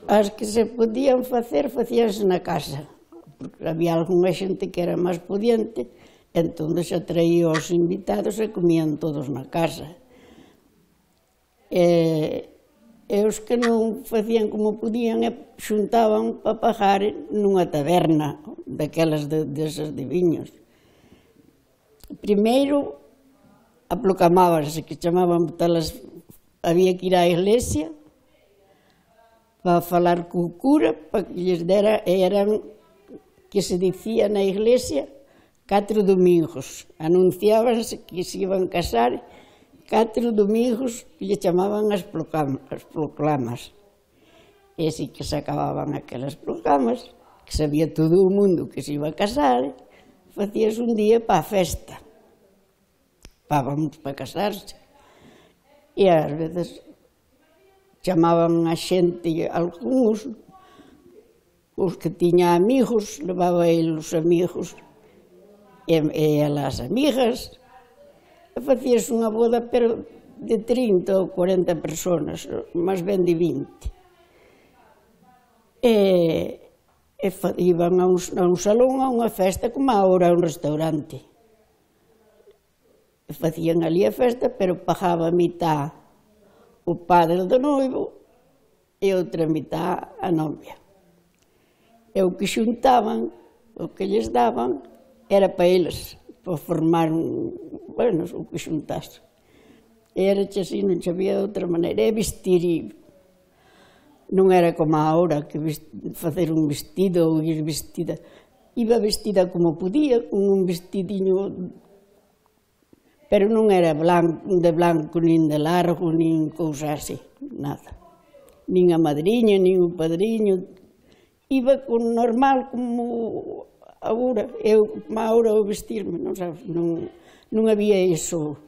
As que se podían facer, facíanse na casa, porque había algunha xente que era máis pudiente, entón xa traía os invitados e comían todos na casa. E os que non facían como podían xuntaban para pagar nunha taberna, daquelas desas de viños. Primeiro aprocamábanse, que chamaban talas, había que ir á iglesia para falar co cura, para que lles dera, eran, que se dicía na iglesia, 4 domingos. Anunciábanse que se iban casar 4 domingos, que lle chamaban as proclamas. E así que se acababan aquelas proclamas, que sabía todo o mundo que se iba a casar, facías un día para a festa, para casarse. E ás veces chamaban a xente, algúns, os que tiña amigos, levaba el os amigos e as amigas, e facíase unha boda, pero de 30 ou 40 personas, máis ben de 20. Iban a un salón, a unha festa, como agora a un restaurante. E facían ali a festa, pero pagaba a mitad o padre do noivo e outra mitad a novia. E o que xuntaban, o que lles daban, era para eles, para formar bueno, o que xuntase. Era así, non había de outra maneira. E vestir, non era como agora, que facer un vestido ou ir vestida. Iba vestida como podía, con un vestidiño, pero non era de blanco, nin de largo, nin cousa así, nada. Nin a madriña, nin o padriño. Iba con normal, como agora. Eu, como agora, o vestirme, non sabes, non había iso.